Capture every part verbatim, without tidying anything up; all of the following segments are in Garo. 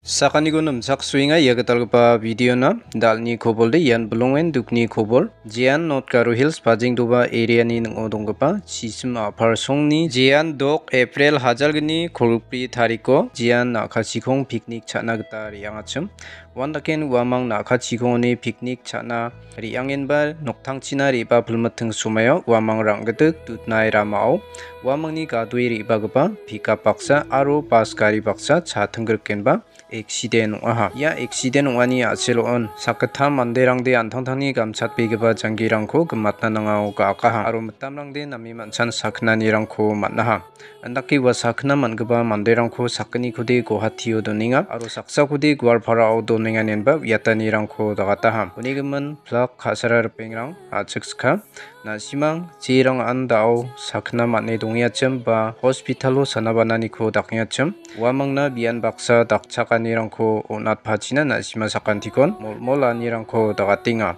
Sakaniko nimchaksoenga ia gitalgipa videona. Dalni kobolde ian bilongen dukni kobol. Jean North Garo Hills Pajengdoba areani ning·o donggipa Chisim Apar Songni Jean dok April hajalgni kolgri tariko Jean na·kachikong picnic cha·na gita re·angachim. Uandaken uamang na·kachikongoni picnic cha·na re·angenba noktangchina re·bapilmiting somaio uamang rang·gitik dutnai ramao uamangni gadoe re·bagipa pickup baksa aro bas gari baksa cha tinggrikenba accident ong·aha. Ia accident ong·ani a·selo on sakgittam manderangde an·tangtangni gamchatbegipa janggirangko gimatna nangao ga·akaha aro mitamrangde name man·chan sakgnanirangko man·aha. Andake ua sakgna man·gipa manderangko sakgnikode Guwahatio donenga aro saksakode Goalparao donenga inenba uiatanirangko dagataha. Unigimin plak ka·sara ripengrang a·chik skang. Na·simang jerang an·dao sakgna man·e dongenga ba hospitalo sana bananiko dakenga. Uamangna bian baksa dakchakanirangko on·atpachina na·sima sakantikon molmolanirangko dagatenga.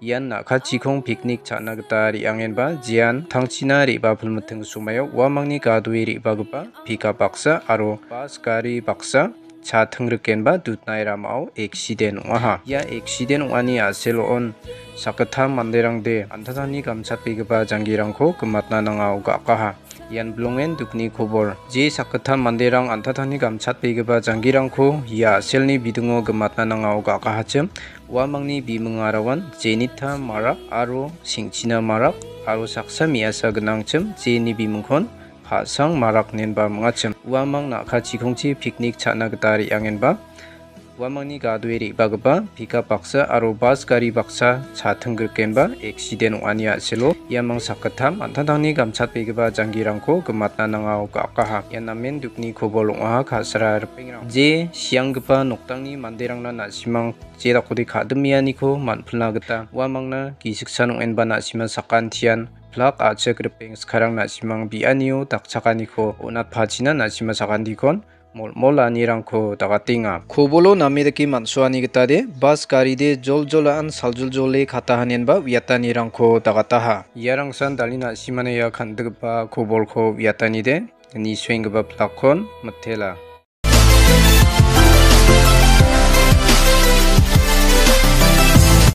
Ian na·kachikong picnic cha·na gita re·angenba jean tangchina re·bapilmiting somaio uamangni gadoe re·bagipa pickup baksa aro bas gari baksa cha tinggrikenba dutnai ramao accident ong·aha. Ia accident ong·ani a·selo on sakgittam manderangde an·tangtangni gamchatbegipa janggirangko gimatna nangao ga·akaha. Ian bilongen dukni kobol. Je sakgittam manderang an·tangtangni gamchatbegipa janggirangko ia a·selni bidingo gimatna nangao ga·akahachim. Uamangni bimingarawan Jenita Marak aro Singchina Marak aro saksa me·asa gnangchim, jeni bimingkon Ka·sang Marak inenba ming·achim. Uamang na·kachikongchi picnic cha·na gita re·angenba uamangni gadoe re·bagipa pickup baksa aro bas gari baksa cha tinggrikenba accident ong·ani a·selo iamang sakgittam an·tangtangni gamchatbegipa janggirangko gimatna nangao ga·akaha. Ia namen dukni kobol ong·aha ka·sara ripengrang. Je sianggipa noktangni manderangna na·simang jedakode ka·dimianiko man·pilna gita uamangna gisiksan ong·enba na·sima sakantian plak a·chik ripeng skarang na·simang bianio dakchakaniko on·atpachina na·sima sakantikon molmolanirangko dagatenga. Kobolo name dake man·soani gitade bas garide joljolaan saljoljole katahanenba uiatanirangko dagataha. Iarangsan dali na·simana ia kan·gipa kobolko uiatanide nisoenggipa plakkon mitela.